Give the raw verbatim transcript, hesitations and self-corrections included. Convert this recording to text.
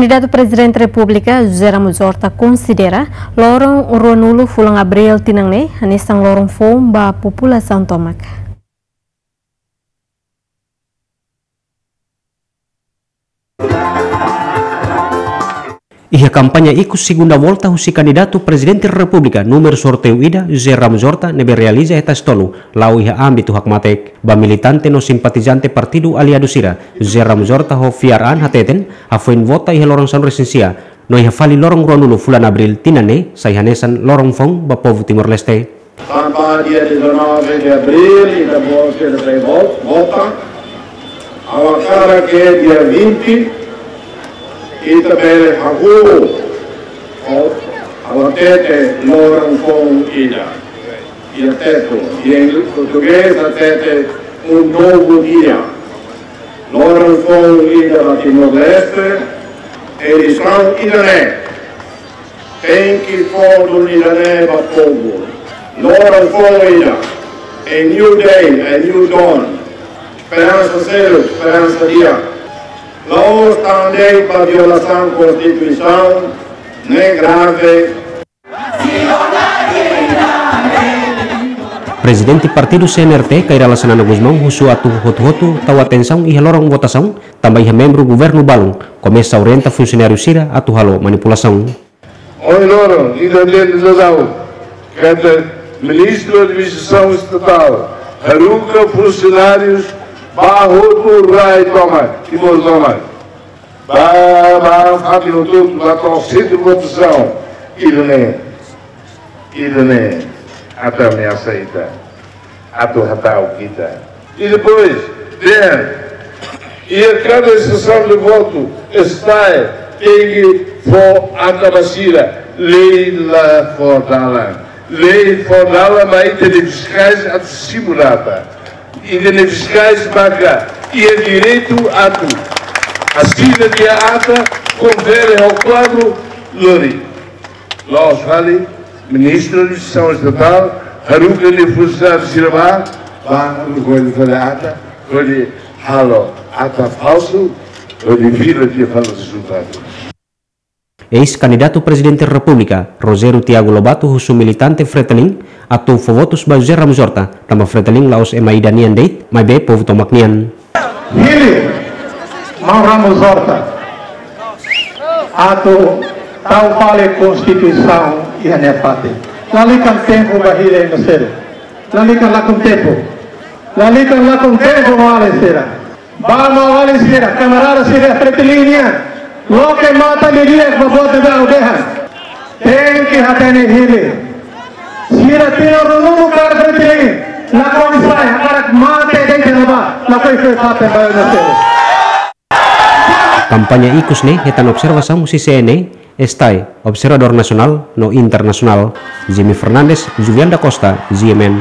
Kandidatu Prezidente Repúblika José Ramos Horta konsidera loron ruanulu fulan Abríl tinan ne'e hanesan loron foun ba populasaun tomak. Iha kampaña ikus segunda volta husi kandidatu Prezidente Repúblika númeru sorteiu ida, José Ramos Horta, ne'ebé realiza iha Tasitolu, la'o iha ámbitu hakmatek. Ba militante no simpatizante partidu aliadu sira, José Ramos Horta ho fiar an hateten, hafoin vota iha loron sanulu-resin-sia, no iha fali loron ruanulu fulan Abríl tinan ne'e, sai hanesan loron foun ba povu Timor-Leste. Tanba dia dezanove de abril, ita bele vo-, vota. Agora ke dia vinte, ita bele hahú, o, agora hatete loron foun ida. Iha Tetun, iha portugés, hatete um novo dia. Loron foun ida ba Timor-Leste, eleisaun ida-ne'e. Tenke fó duni ida-ne'e ba povu. Loron foun ida. A new day, a new dawn. Esperansa seluk, esperansa di'ak. La'ós tan de'it ba violasaun Konstituisaun, ne'e grave. Prezidente Partidu C N R T, Kay Rala Xanana Gusmão, husu atu hotu-hotu tau atensaun iha loron votasaun, tanba iha membru governu balun komesa orienta funsionáriu sira atu halo manipulasaun. Ohin loron, ita hatene daudaun katak Ministru Administrasaun Estatál haruka funsionáriu ba hotu rai tomak, Timor tomak. Ba, ba, fatin hotu-hotu, ba to'o sentru votasaun. Ida-ne'e, ida-ne'e, atu ameasa ita. Atu hata'uk ita. I depois, dehan, iha kada sesaun de votu, STAE tenke fó ata ba sira, lei la fó dalan. Lei fó dalan ba ita-nia fiskais atu simu data. Ita-nia fiskais maka iha direitu atu asina tiha ata, konfere ho kuadru, lori. La'ós fali, Ministru Administrasaun Estatál haruka nia funsionáriu sira ba, ba, haruka hodi fali ata, hodi halo ata falsu, hodi vira tiha fali rezultadu. Eis-kandidatu Prezidente Repúblika, Rogério Tiago Lobato, husu militante Fretilin atu fó votus ba José Ramos Horta, tanba Fretilin la'ós ema ida nian de'it, maibé povu tomak nian. Hili, maun Ramos Horta, atu tau fali Konstituisaun iha nia fatin. Lalika tempu ba hili ema seluk. Lalika lakon tempu. Lalika lakon tempu, maun-alin sira. Ba maun-alin sira, kamarada sira Fretilin nian. Loke matan didi'ak ba buat ne'ebé ha'u dehan. Tenke hatene hili. Sira tinan ruanulu kaer Fretilin. Lakohi sai, hakarak mate de'it iha ne'ebá. Lakohi fó fatin ba ema seluk. Kampaña ikus ne'e hetan observasaun husi C N E, STAE, observadór nasionál no internasionál. Jimmy Fernandes, Julian da Costa, G M N.